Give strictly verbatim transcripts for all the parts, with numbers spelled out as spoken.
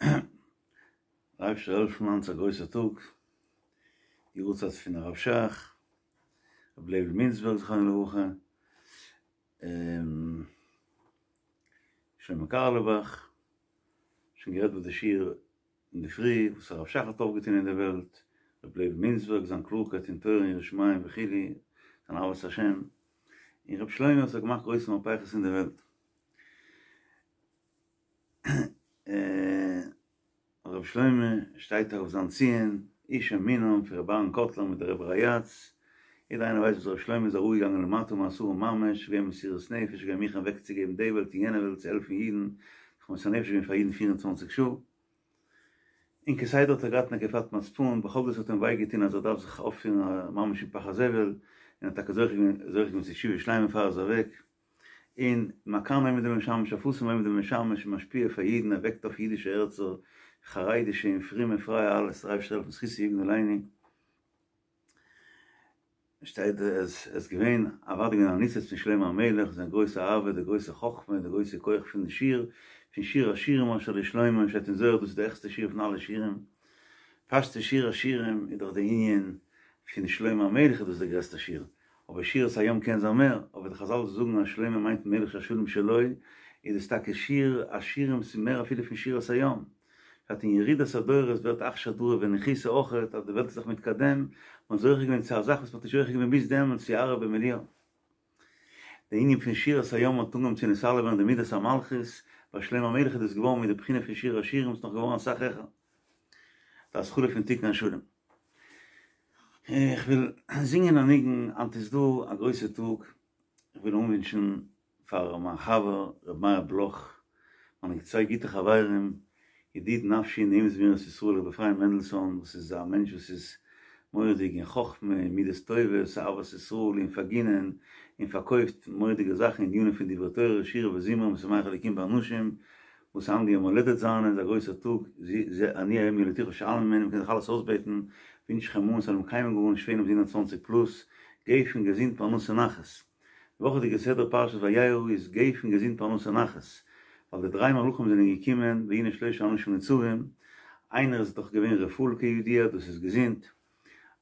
דער אייבערשטער זאל העלפן היינט איז א גרויסער טאג, יארצייט פון הרב שך, רבי לייבל מינצבערג זכרונו לברכה, שלמה קארליבאך, שוין גערעדט ביי די שיעור אינדערפרי וואס הרב שך האט אויפגעטון אין די וועלט, רבי לייבל מינצבערג זיין קלארקייט אין תורה און יראת שמים וכו', זיין אהבת השם, און רבי שלמה וואס האט געמאכט גרויסע מהפכות אין די וועלט. רבי שלמה שטייט אויף זיין ציון, איש אמונם פון רבי אהרן קאטלער מיט די רבי ריי"צ, יעדער איינער ווייסט וואס רבי שלמה איז אראפגעגאנגען למטה מעשרה ממש, געווען מסירות נפש, געווען מוכן אוועקצוגעבן די וועלט און יענע וועלט צו העלפן אידן, זיך מוסר נפש געווען פאר אידן פֿיר און צוואַנציק שעה, און כסדר האט ער געהאט נקיפת מצפון, בכל זאת האט אים וויי געטון אז ער דארף זיך אויפפירן ממש אין פח הזבל, און האט טאקע זוכה געווען צו תשובה שלימה פאר ער איז אוועק. און מכאן עומד ומשמש אפסים עומד ומשמש און משפיע פאר אידן ער וועקט אויף אידישע הערצער חרדישע און פרומע פרייע אלעס דער אייבערשטער זאל העלפן זכותו יגן עלינו שטייט עס איז געווען אוודאי געווען א ניצוץ פון שלמה המלך זיין גרויסע אהבה די גרויסע חכמה די גרויסע כח פון די שיר פון שיר השירים אשר לשלמה שטייט אין זוהר דאס איז די העכסטע שיר פון אלע שירים פשטות שיר השירים איז דאך די ענין פון שלמה המלך איז דאס די גרעסטע שיר אבער שירת הים קען זיין מער, אבער די חזל זאגן אז שלמה מיינט מלך שהשלום שלו, איז עס טאקע שיר השירים ס'איז מער אפילו פון שירת הים. פשט אין ירידת הדורות ווערט אכשר דרא וניחותא אויכעט אז די וועלט איז זיך מתקדם, מ'האט זוכה געווען צו א זאך וואס מ'האט נישט זוכה געווען ביז דעמאלטס יערה במליאה. די ענין פון שירת הים האט אנגעהויבן צו נתעלה ווערן די מידת המלכות, ביי שלמה המלך איז דאס געווארן מיט די בחינה פון שיר השירים ס'איז נאך געווארן אסאך העכער. די התחלה פון תיקון השלם. איך וויל זינגען א ניגון, היינט איז דא א גרויסע טאג, איך וויל אנווינטשן פאר מיין חבר ר' מאיר בלוך, מיינע צוויי גוטע חברים, ידיד נפשי נעים זמירות ישראל ר' אפרים מענדלסאן וואס איז א מענטש וואס איז מורא'דיג אין חכמה און מידות טובות, אהבת ישראל און פארגינען, און פארקויפט מורא'דיגע זאכן ענינים פון דברי תורה, שירה וזמרה משמח אלוקים באנשים, וואס היינט די יום הולדת זיינע איז א גרויסער טאג, זה אני היום ילדתיך שאל ממני, מ'קען זיך אלעס אויסבעטן, ווינטש איך אים אן ס'זאל אים קיימא געווארן שווער אויף הונדערט צוואַנציק פלוס, גפן געזונט פרנסה נחת. די וואכעדיגע סדרה פרשת וירא איז גפן געזונט פרנסה נחת, ווייל די דריי מלאכים זענען געקומען והנה שלשה אנשים נצבים, איינער איז דאך געווען רפאל כידוע דאס איז געזונט,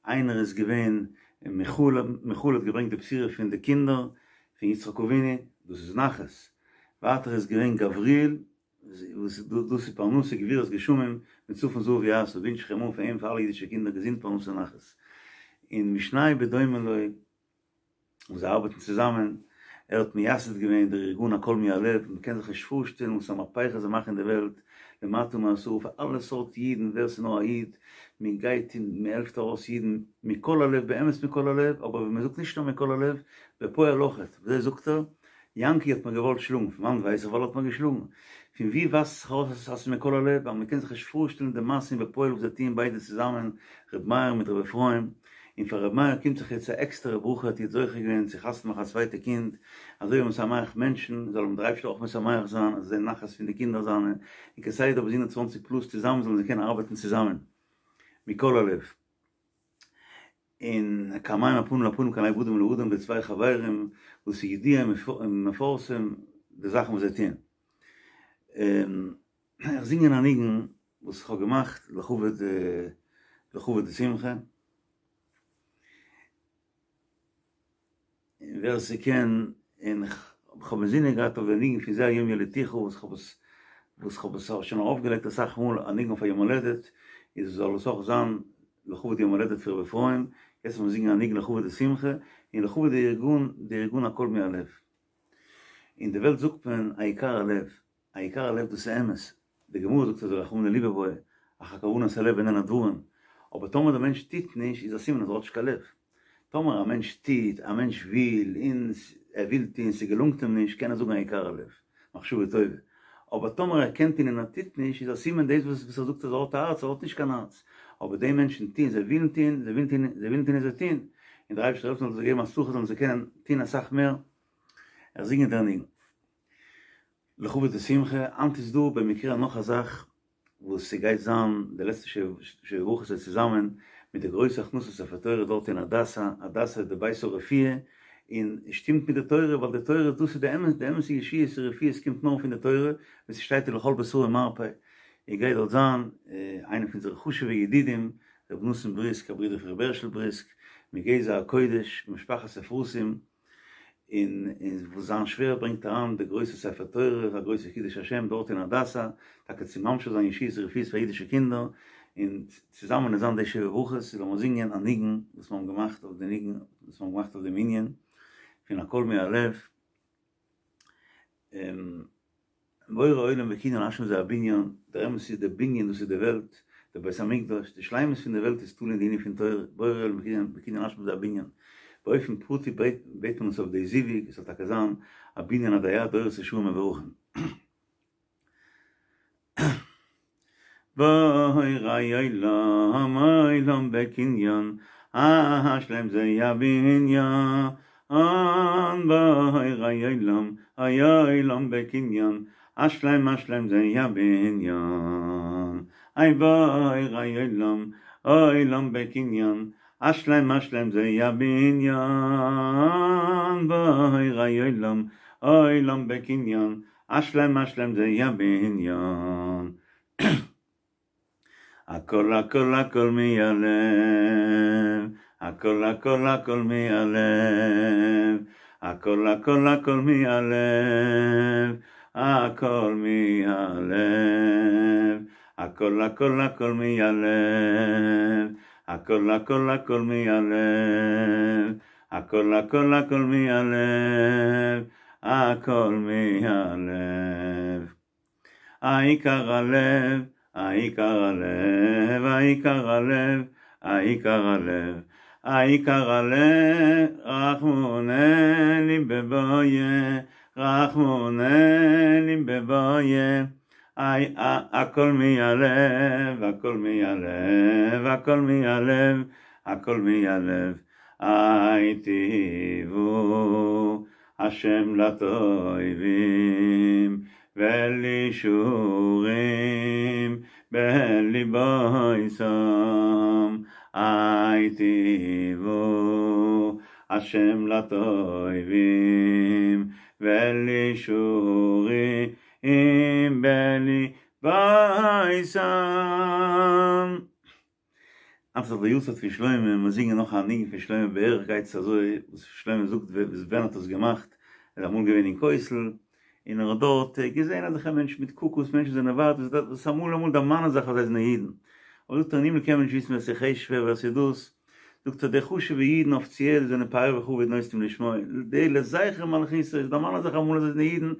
איינער איז געווען מיכאל, מיכאל האט געברענגט די בשורה פון די קינדער פון יצחק אבינו, דאס איז נחת, ווייטער איז געווען גבריאל, וואס דאס איז פרנסה גבירת גשמים, מצפון זהב יעשה, ווינטש איך אים אן פאר אים פאר אלע אידישע קינדער געזונט פרנסה נחת, און משנהו בדומה לו. און זיי ארבעטן צוזאמען, ער האט מייסד געווען דער ארגון הכל מהלב, מען קען זיך נישט פארשטעלן וואס א מהפכה זיי מאכן אין די וועלט, למטה מעשרה פאר אלע סארט אידן, ווער ס'איז נאר א איד, מען גייט און מען העלפט ארויס אידן מכל הלב, באמת מכל הלב, אבער ווען מען זאגט נישט נאר מכל הלב, בפועל אויכעט, וויאזוי זאגט ער? יענקי האט מיר געוואלט שלאגן, פון וואנט ווייס איך ווייל ער האט מיר געשלאגן? פון ווי ווייזט זיך ארויס אז ס'איז מכל הלב? ווייל מ'קען זיך נישט פארשטעלן די מעשים בפועל וואס זיי טוען ביידע צוזאמען, ר' מאיר מיט ר' אפרים, און פאר ר' מאיר קומט זיך יעצט א עקסטערע ברכה, האט יעצט זוכה געווען צו חתונה מאכן א צווייטע קינד, אזוי ווי משמח מענטשן, זאל אים דער אייבערשטער אויך משמח זיין, אז ער זען נחת פון די קינדער זיינע, און כסדר ביז הונדערט צוואַנציק פלוס צוזאמען זאלן זיי קענען ארבעטן צוזאמען מכל הלב. און כמים הפנים לפנים כן לב אדם לאדם די צוויי חברים וואס איז ידוע ומפורסם די זאכן וואס זיי טוען. איך זינגען א ניגון וואס איך האב געמאכט לכבוד לכבוד די שמחה. און ווער ס'קען, און כ'האב אינזינען געהאט אויף די ניגון פון זה היום ילדתיך וואס כ'האב עס וואס כ'האב עס שוין ארויפגעלייגט אסאך מאל א ניגון אויף א יום הולדת, איז זאל עס אויך זיין לכבוד יום הולדת פון ר' אפרים, יעצט וועל מיר זינגען א ניגון לכבוד די שמחה, און לכבוד די ארגון, די ארגון הכל מהלב. אין די וועלט זאגט מען העיקר הלב, העיקר הלב דאס איז אמת, די גמרא זאגט אזוי רחמנא ליבא בעי, אחר כוונת הלב איננה דברים, אבער טאמער דער מענטש טוט נישט איז א סימן אז ער האט נישט קיין לב, טאמער א מענטש טוט, א מענטש וויל, און ער וויל טון, ס'געלונגט אים נישט, קען ער זאגן העיקר הלב, מחשבה טובה, אבער טאמער ער קען טון און ער טוט נישט, איז א סימן דאס וואס ער זאגט אז ער האט א הארץ, ער האט נישט קיין הארץ, אבער די מענטשן טון, זיי ווילן טון, זיי ווילן טון, זיי ווילן טון און זיי טון, און דער אייבערשטער זאל העלפן זאל זיי געבן הצלחה זאלן זיי קענען טון אסאך מער, איך זינג דער ניגון. לכבוד די שמחה, היינט איז דא במקרה נאך א זאך וואס ס'גייט זיין די לעצטע שבע ברכות איז צוזאמען מיט די גרויסע הכנסת ספר תורה דארט אין הדסה, הדסה איז די בית הרפואה, און שטימט מיט די תורה ווייל די תורה דאס איז די אמת די אמת'ע ישועות און רפואות קומט נאר פון די תורה ווי ס'שטייט ולכל בשרו מרפא, און גייט דארט זיין איינער פון אונזערע חשוב'ע ידידים ר' נתן בריסק א ברודער פון ר' הערשל בריסק מגזע הקודש ממשפחת אפרתים און וואס זיין שווער ברענגט אריין די גרויסע ספר תורה א גרויסע קידוש השם דארט אין הדסה טאקע צו ממשיך זיין ישועות ורפואות פאר אידישע קינדער און צוזאמען איז זיין די שבע ברכות איז לאמיר זינגען א ניגון וואס מיר האבן געמאכט אויף די ניגון וואס מיר האבן געמאכט אויף דעם ענין פון הכל מהלב. בורא עולם בקנין השלם זה הבנין, דער אמת איז דער בנין דאס איז די וועלט, דער בית המקדש, די שלימות פון די וועלט איז תלוי אין די ענין פון תורה, בורא עולם בקנין השלם זה הבנין, באופן פרטי בעט מען עס אויף די זיווג, עס זאל טאקע זיין א בנין עדי עד דורות ישרים מבורכים. בורא עולם עולם בקנין השלם זה הבנין בורא עולם עולם בקנין השלם השלם זה הבנין איי בורא עולם עולם בקנין השלם השלם זה הבנין בורא עולם עולם בקנין השלם השלם זה הבנין. הכל הכל הכל מהלב, הכל הכל הכל מהלב, הכל הכל הכל מהלב, הכל מהלב, הכל הכל הכל מהלב, הכל הכל הכל מהלב, הכל הכל הכל מהלב, הכל מהלב. העיקר הלב, העיקר הלב, העיקר הלב, העיקר הלב, העיקר הלב, רחמונא ליבבויה, רחמונא ליבבויה, הכל מהלב, הכל מהלב, הכל מהלב, הכל מהלב, היטיבו השם לטובים ולישורים בליבויסם היטיבו השם לטובים ולישורים בליבויסם. היינט איז דאך די יארצייט פון שלמה, מיר זינגען נאך א ניגון פון שלמה בערך גייט עס אזוי, וואס שלמה זאגט ווען האט עס געמאכט, ער איז אמאל געווען אין כותל, און ער האט דארט געזען אזעלכע מענטשן מיט קוקוס, מענטשן זענען ווייט, וואס אמאל אמאל דערמאנען זיך אז זיי זענען אידן, אבער זאגט ער אין הימל קען מען נישט וויסן ווער ס'איז חשוב'ער ווער ס'איז דאס, זאגט ער די חשוב'ע אידן אפיציעל זענען פאר וכבוד נותנים לשמו, די לזכר מלכותו, זיי דערמאנען זיך אמאל אז זיי זענען אידן,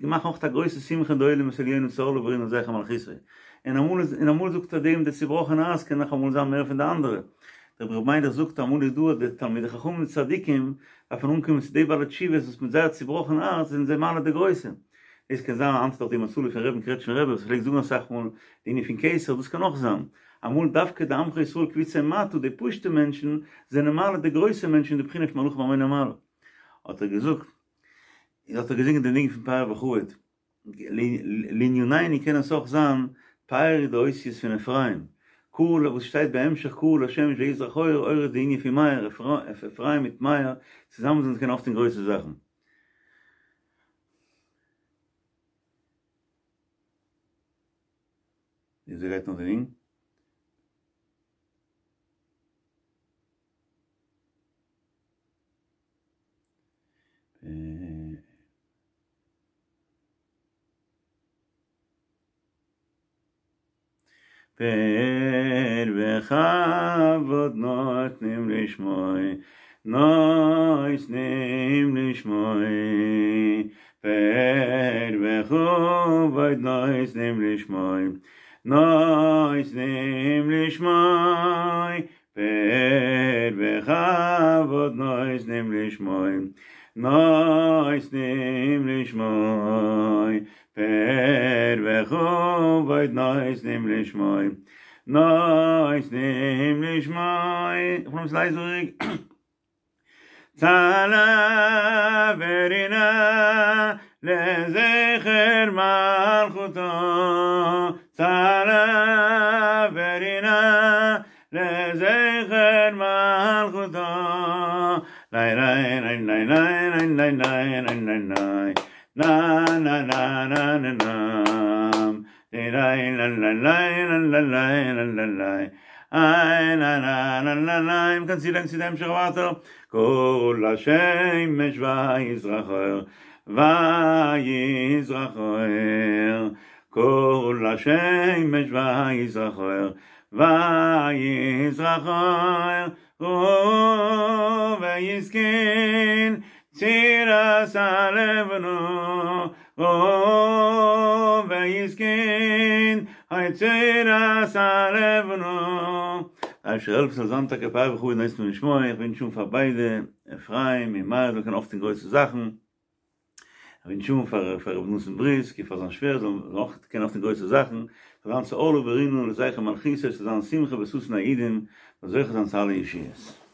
מאכן אויך א גרויסע שמחה אין די עולמות עליונים ס'זאל עוברים לזכר מלכותו, און אמאל איז און אמאל זאגט ער דעם די צובראכענע הארץ קען נאך אמאל זיין מער פון די אנדערע, דער רבי מיילעך זאגט אמאל איז דא אז די תלמידי חכמים און צדיקים דארפן אנקומען צו די בעלי תשובות וואס מיט זייער צובראכענע הארץ זענען זיי מעלה די גרויסע, דאס קען זיין היינט איז דאך די הצלה פון רבי'ן קרעטשניפער רבי וואס פלעגט זאגן אסאך מאל די ענין פון כתר, דאס קען אויך זיין אמאל דווקא די עמך ישראל קבוצי מטה די פשוטע מענטשן זענען מעלה די גרויסע מענטשן די בחינה פון מלאכים המוני מעלה האט ער געזאגט האט ער געזינגען די ניגון פון פאר וכבוד. לענינינו קען עס אויך זיין פאר איז די אותיות פון אפרים, קרא וואס שטייט בהמשך קרא לשמש ויזרח אור, אור איז די ענין פון מאיר, אפרים מיט מאיר צוזאמען זענען זיי קענען אויפטון גרויסע זאכן. וויאזוי גייט נאך די ניגון? פאר וכבוד נותנים לשמו נותנים לשמו פאר וכבוד נותנים לשמו נותנים לשמו פאר וכבוד נותנים לשמו נותנים לשמו פאר וכבוד נותנים לשמו נותנים לשמו איך בין אביסל הייזעריג צהלה ורינה לזכר מלכותו צהלה ורינה לזכר מלכותו ליי ליי ליי ליי ליי ליי ליי ליי ליי ליי נא נא נא נא נא נא איי מ'קען צולייגן צו די המשך ווייטער כל השמש ויזרח אור ויזרח אור כל השמש ויזרח אור ויזרח אור ויזכין צורת הלבנה ויזכין היי צורת הלבנה אייבערשטער העלפן ס'זאל זיין טאקע פאר וכו' נענסט מיר נשמע איך ווינטש אן פאר ביידע אפרים און מאיר זאלן קענען אויפטון גרויסע זאכן איך ווינטש אן פאר פאר רבי נתן בריסק און פאר זיין שווער זאלן אויך קענען אויפטון גרויסע זאכן זאל זיין שאלה ורינה לזכר מלכותו ס'זאל זיין שמחה וששון א אידן זאל זוכה זיין צו אלע ישועות.